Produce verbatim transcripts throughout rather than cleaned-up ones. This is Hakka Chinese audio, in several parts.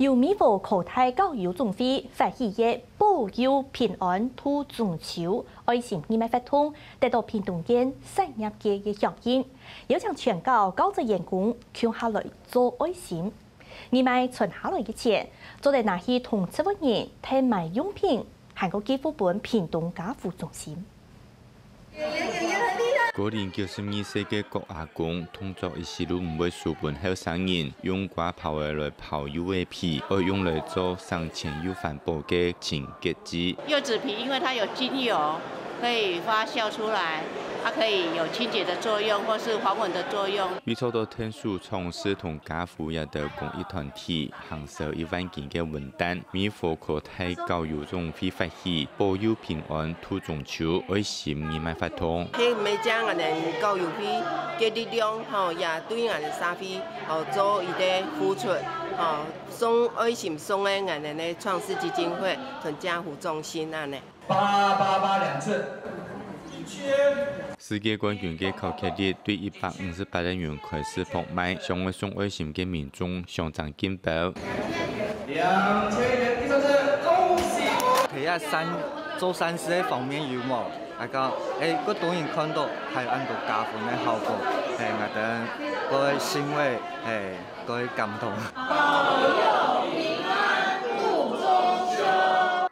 由美和科大教育總會發起个保佑平安渡中秋愛心義賣活動，得到屏東縣產業界个響應，邀請全校教職員工共下來做愛心。義賣存下來个錢，做得拿去同植物人、添買用品，還過寄付分屏東家扶中心。高齡九十二歲个郭阿公，動作一息都毋會輸分後生人，用割刨仔來刨柚仔皮，愛用來做省錢又環保个清潔劑。柚子皮因為它有精油，可以發酵出來，它可以有清潔的作用或是防蚊的作用。佢做到𢯭手創始同家扶這兜公益團體，行銷一萬斤个文旦，美和科大教育總會發起保佑平安渡中秋愛心義賣活動。係每隻𠊎等教育會个力量吼，也對𠊎等社會吼做一個付出吼，送愛心送个𠊎等个創世基金會同家扶中心恁呢。八八八兩次。世界冠軍个考克力對一百五十八個銀開始拍賣，想愛送愛心个民眾相爭緊跑。兩千元第三次，恭喜！佢啊善做善事个方面有無？啊講，誒，過多人看到，還有恁多加分个效果，誒，𠊎等過欣慰，誒，過感動。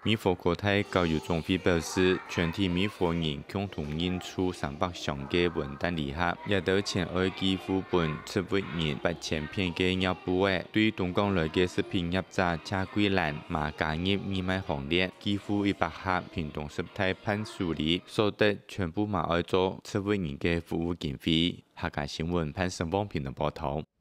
美和科大教育總會表示，全體美和人共同認出三百箱个文旦禮盒，這兜錢愛寄付分植物人八千片个尿布仔，對東港來个食品業者謝桂蘭嘛加入義賣行列，寄付一百盒屏東十大伴手禮，所得全部嘛愛做植物人个服務經費。客家新聞潘成旺屏東報導。